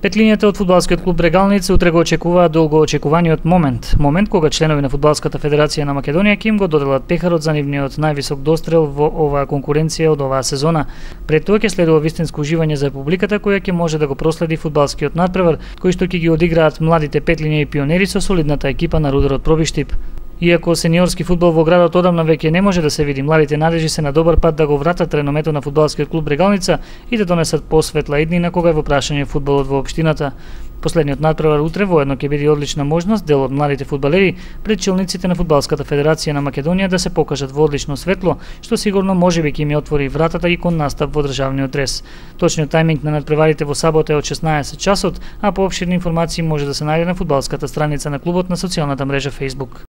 Петлињата од фудбалскиот клуб Брегалница утре го очекуваат долгоочекуваниот момент кога членови на фудбалската федерација на Македонија ќе им го доделат пехарот за нивниот највисок дострел во оваа конкуренција од оваа сезона. Пред тоа ќе следува вистинско уживање за публиката која ќе може да го проследи фудбалскиот надпревар кој што ќе ги одиграат младите Петлиња и пионери со солидната екипа на Рударот Пробиштип. Иако сениорски фудбал во градот одамна веќе не може да се види, младите надежи се на добар пат да го вратат реномето на фудбалскиот клуб Брегалница и да донесат посветла иднина кога е во прашање фудбалот во општината. Последниот надпревар утре воедно ќе биде одлична можност дел од младите фудбалери пред челниците на фудбалската федерација на Македонија да се покажат во одлично светло, што сигурно можеби ќе им отвори вратата и кон настап во државниот рез. Точниот тајминг на надпреварите во сабота е од 16 часот, а поопширни информации може да се најде на фудбалската страница на клубот на социјалната мрежа Facebook.